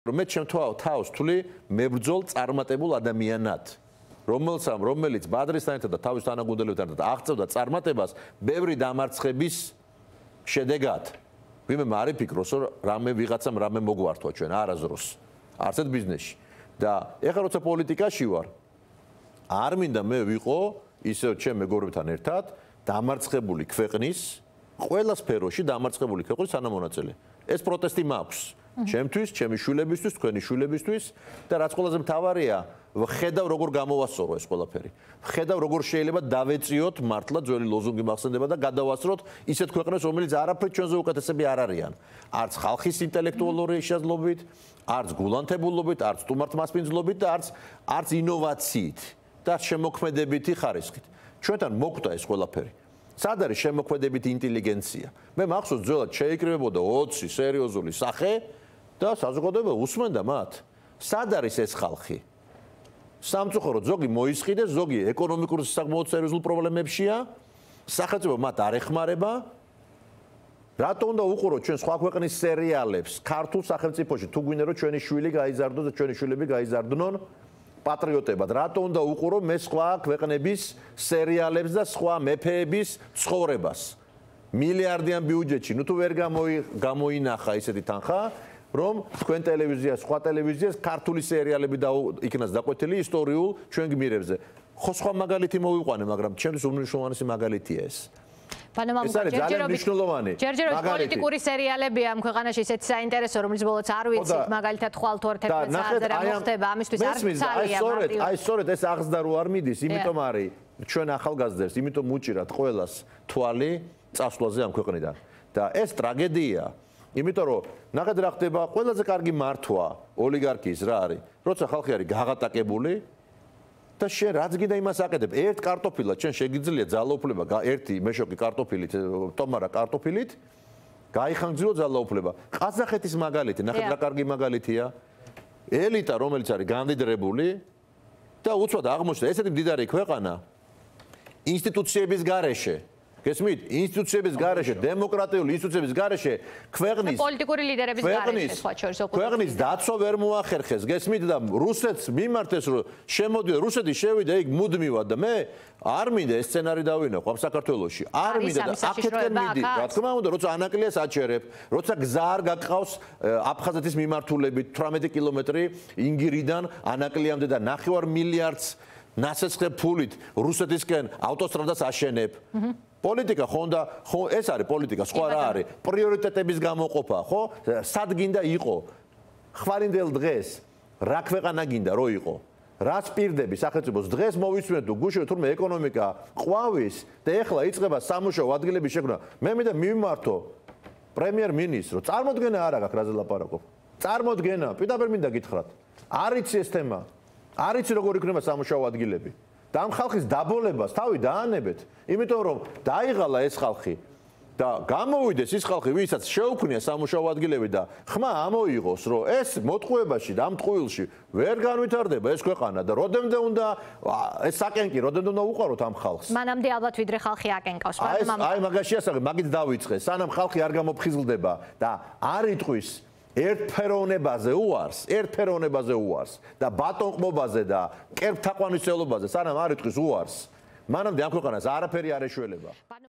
მე თავს თვლი მებრძოლ წარმატებულ ადამიანად, რომელიც ბადრისთან ერთად და თავის თანაგუნდელებთან ერთად აღწევდა წარმატებას ბევრი დამარცხების შედეგად. ვინმე არ იფიქროს, რომ რამე ვიღაცამ რამე მოგვართვა ჩვენ არასდროს. არც ერთ ბიზნესში. და ეხლა როცა პოლიტიკაში ვარ, არ მინდა მე ვიყო ისე ჩემ მეგობრებთან ერთად დამარცხებული ქვეყნის ყველა სფეროში დამარცხებული ქვეყნის თანამონაწილე. ეს პროტესტი მაქვს. ჩემთვის, ჩემი შვილებისთვის, თქვენი შვილებისთვის და რაც ყველაზე მთავარია, ხედავ როგორ გამოვასწორო ეს ყველაფერი. ხედავ როგორ შეიძლება დავეწიოთ მართლა ძველი ლოზუნგი მახსენდება და გადავასწროთ ისეთ ქვეყნებს, რომელიც არაფრით ჩვენზე უკეთესები არ არიან. არც ხალხის ინტელექტუალური შესაძლებლობით, არც გულანთებულობით, არც სტუმართმასპინძლობით და არც ინოვაციით და შემოქმედებითი ხარისხით. ჩვენთან მოკვდა ეს ყველაფერი. სად არის შემოქმედებითი ინტელიგენცია? მე მახსოვს ძველად შეიკრიბებოდა 20 სერიოზული სახე და საზოგადოება უსმენდა მათ. სად არის ეს ხალხი? სამწუხაროდ ზოგი მოისყიდეს, ზოგი ეკონომიკურ საკმაოდ სერიოზულ პრობლემებშია, სახელმწიფო მათ არ ეხმარება. რატო უნდა უყუროთ ჩვენ სხვა ქვეყნის სერიალებს ქართულ სახელმწიფოში, თუ გვინდა რომ ჩვენი შვილი გაიზარდოს და ჩვენი შვილები გაიზარდნონ პატრიოტებად, რატო უნდა უყურო მე სხვა ქვეყნების სერიალებს და სხვა მეფეების ცხოვრებას? მილიარდიან ბიუჯეტში, თუ ვერ გამოინახა ისეთი თანხა, რომ თქვენ ტელევიზია, სხვა ტელევიზიას ქართული სერიალები იქნას დაკვეთილი ისტორიულ ჩვენ გმირებზე. ხო სხვა მაგალითი მოვიყვანე, მაგრამ ჩემთვის უმნიშვნელოვანესი მაგალითია ეს. ჯერჯერობით პოლიტიკური სერიალებია ამ ქვეყანაში ისეთი საინტერესო, რომელიც ბოლოს არ ვიცით, მაგალითად ხვალთვართებს საათზე რა მოხდება, ამისთვის არ ცალია. აი სწორედ ეს აღზრდა რო არ მიდის, იმიტომ არის ჩვენ ახალგაზრდებს, იმიტომ უჭირათ ყველას თვალი წასვლაზე ამ ქვეყნიდან. და ეს ტრაგედია, იმიტომ რომ ნახეთ რა ხდება, ყველაზე კარგი მართვა ოლიგარქიის რა არის, როცა ხალხი არის გაღატაკებული და შენ რაც გინდა იმას აკეთებ, ერთ კარტოფილად შენ შეგიძლია ძალაუფლება, ერთი მეშოკი კარტოფილით, ტომარა კარტოფილით, გაიხანგრძილო ძალაუფლება. ყაზახეთის მაგალითი, ნახეთ რა კარგი მაგალითია. ელიტა, რომელიც არის გამდიდრებული და უცბად აღმოჩნდა ესეთი მდიდარი ქვეყანა ინსტიტუციების გარეშე. გესმით? ინსტიტუციების გარეშე, დემოკრატიული ინსტიტუციების გარეშე ქვეყნის პოლიტიკური ლიდერების გარეშე სხვა შორის ქვეყნის დაცვა ვერ მოახერხეს. გესმით და რუსეთს მიმართეს, რომ შემოდიოდა რუსეთი შევიდა იქ მუდმივად და მე არ მინდა ეს სცენარი დავინახო ამ საქართველოში. არ მინდა და აქეთკენ მიდი. რა თქმა უნდა, როცა ანაკლიას აჩერებ, როცა გზა არ გაკყავს აფხაზეთის მიმართულებით 18 კილომეტრი ინგირიდან ანაკლიამდე და 9 მილიარდს ნასესხე ფულით რუსეთისკენ ავტოსტრადას აშენებ. პოლიტიკა ხო ეს არის პოლიტიკა, სხვა რა არის? პრიორიტეტების გამოყოფა, ხო? სად გინდა იყო? ხვალინდელ დღეს რა ქვეყანა გინდა რო იყო? რას პირდები სახელმწიფოს დღეს მოვისმენთ თუ გუშინ თურმე ეკონომიკა ყვავის და ეხლა იწყება სამუშაო ადგილების შექმნა. მე მინდა მივმართო პრემიერ-მინისტრს, წარმოდგენა არ აქვს რაზე ლაპარაკობ. წარმოდგენა, პირდაპირ მინდა გითხრათ. არ იცი ეს თემა. არ იცი როგორ იქნება სამუშაო ადგილები. და ამ ხალხის დაბოლებას თავი დაანებეთ, იმიტომ რომ დაიღალა ეს ხალხი და გამოვიდეს ის ხალხი, ვისაც შეუქმნია სამუშაო ადგილები და ხმა ამოიღოს, რომ ეს მოტყუებაში და ამ ტყუილში ვერ განვითარდება ეს ქვეყანა და როდემდე უნდა ეს საკენკი, როდემდე უნდა უყაროთ ამ ხალხს. მანამდე ალბათ ვიდრე ხალხი აკენკავს. აი მაგაში ასაღებ, მაგით დავიწყე, სანამ ხალხი არ გამოფხიზლდება და არ იტყვის ერთფეროვნებაზე უარს და ბატონყმობაზე და კერპთაყვანისმცემლობაზე სანამ არ იტყვის უარს, მანამდე ამ ქვეყანას არაფერი არ ეშველება.